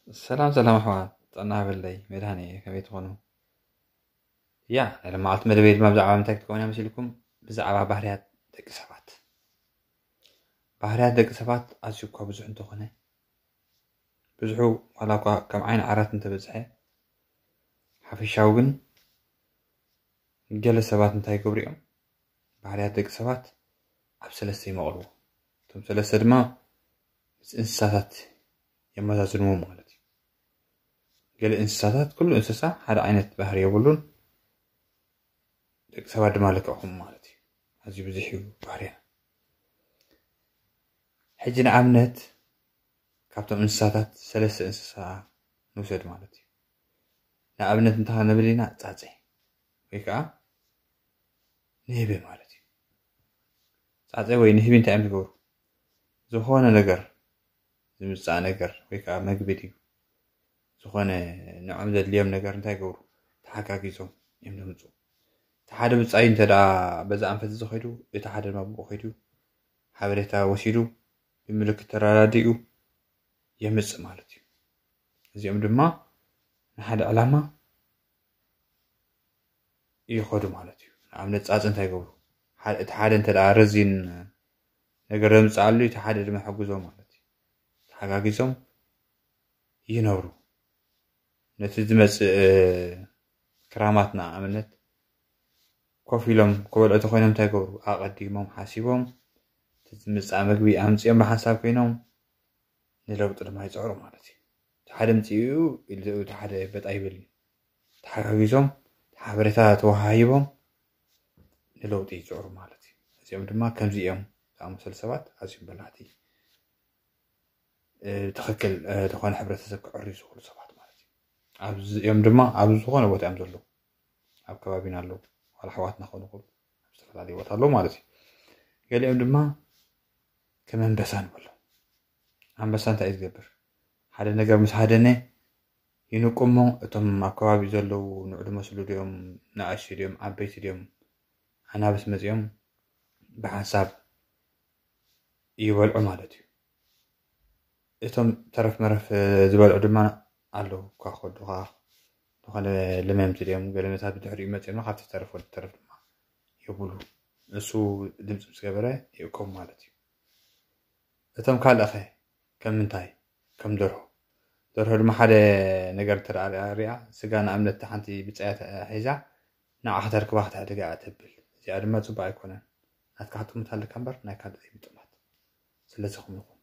ሰላም ሰላም ኣሕዋት፣ ጥዕና ሃበለይ። መድሃኔ ከመይ ትኾኑ? ያ ናይ ለማዓልቲ መደበይ ድማ ብዛዕባ ምንታይ ክትከውን እያ መሲልኩም? ብዛዕባ ባህርያት ደቂ ሰባት። ባህርያት ደቂ ሰባት ኣዝዩ እኳ ብዙሕ እንተኾነ፣ ብዙሑ ዋላ እኳ ከም ዓይኒ ዓራት እንተበዝሐ፣ ሓፈሻዊ ግን ገለ ሰባት እንታይ ይገብሩ እዮም? ባህርያት ደቂ ሰባት ኣብ ሰለስተ ይመቕልዎ። እቶም ሰለስተ ድማ ምስ እንስሳታት የመዛዝንዎም ማለት እዩ። ገለ እንስሳታት፣ ኩሉ እንስሳ ሓደ ዓይነት ባህሪ የብሉን፣ ደቂ ሰባት ድማ ልክዕኹም ማለት እዩ። ኣዝዩ ብዙሕ እዩ ባህርያ። ሕጂ ንኣብነት ካብቶም እንስሳታት ሰለስተ እንስሳ ንውሰድ ማለት እዩ። ንኣብነት እንታይ ንብል ኢና? ጻጸ ወይ ከዓ ንህቢ ማለት እዩ። ጻጸ ወይ ንህቢ እንታይ እዮም ዝገብሩ? ዝኾነ ነገር፣ ዝምጻእ ነገር ወይ ከዓ መግቢ ድዩ፣ ዝኾነ ንዖም ዘድልዮም ነገር እንታይ ይገብሩ? ተሓጋጊዞም እዮም ዘምፁ። እቲ ሓደ ብጻይ እንተ ደኣ በዛ ኣንፈት እዚ ኸይዱ፣ እቲ ሓደ ድማ ብኡ ኸይዱ፣ ሓበሬታ ወሲዱ፣ ብምልክት ተረዳዲኡ የምጽእ ማለት እዩ። እዚኦም ድማ ንሓደ ዕላማ ይኸዱ ማለት እዩ። ንኣብነት ጻጽ እንታይ ይገብሩ? ሓደ፣ እቲ ሓደ እንተ ደኣ ረዚን ነገር ዘምጽኣሉ፣ እቲ ሓደ ድማ ይሕግዞ ማለት እዩ። ተሓጋጊዞም ይነብሩ። ነቲ ዝመጽእ ክራማት ንኣብነት ኮፍ ኢሎም ክበልዑ ተኾይኖም እንታይ ይገብሩ? ኣቐዲሞም ሓሲቦም፣ እቲ ዝምጻእ መግቢ ኣምጺኦም ብሓንሳብ ኮይኖም ንለውጢ ድማ ይጽዕሩ ማለት እዩ። እቲ ሓደ ምጽኡ ኢሉ እቲ ሓደ በጣ ይብል እዩ። ተሓጋጊዞም፣ ሓበሬታ ተወሃሂቦም ንለውጢ ይጽዕሩ ማለት እዩ። እዚኦም ድማ ከምዚ እዮም ዝኣመሰሉ ሰባት ኣዝዮም በላሕቲ፣ እ፣ ትኽክል፣ እ፣ ዝኾነ ሕብረተሰብ ክዕርዩ ዝኽእሉ ሰባት ማለት እዩ። ኣብዚኦም ድማ ኣብ ዝኾነ ቦታ እዮም ዘለዉ። ኣብ ከባቢና ኣለዉ። ዋላ ኣሕዋትና ክኾኑ ይኽእሉ። ኣብ ዝተፈላለዩ ቦታ ኣለዉ ማለት እዩ። ገሊኦም ድማ ከም ኣንበሳ ንበሎ። ኣንበሳ እንታይ እዩ ዝገብር? ሓደ ነገር ምስ ሃደነ ይንቁ እሞ፣ እቶም ኣብ ከባቢ ዘለዉ ንዑ ዝመስሉ ድዮም፣ ንኣሽቱ ድዮም፣ ዓበይቲ ድዮም፣ ኣናብስ መጺኦም ብሓንሳብ ይበልዑ ማለት እዩ። እቶም ተረፍ መረፍ ዝበልዑ ድማ ኣለዉ፣ እኳ ከዱ ኸዓ ዝኾነ ለመምቲ ድዮም፣ ገለ ነታት ብድሕሪኡ መጺኦም ካብቲ ዝተረፈ ተረፍ ድማ ይብሉ። ንሱ ድምፂ ምስ ገበረ ይእከቡ ማለት እዩ። እቶም ካልእ ኸ ከም ምንታይ? ከም ደርሆ። ደርሆ ድማ ሓደ ነገር እንተ ደኣ ሪኣ፣ ስጋ ንኣብነት ሓንቲ ብጻያ ሒዛ ንዓ ከተርክባ ክትሕደጋ እያ ተብል። እዚኣ ድማ ጽቡቕ ኣይኮነን። ናትካ ክትጥምት ኣለካ እምበር ናይ ካልእ ዘይምጥማት። ስለዚ ከምኡ ይኹን።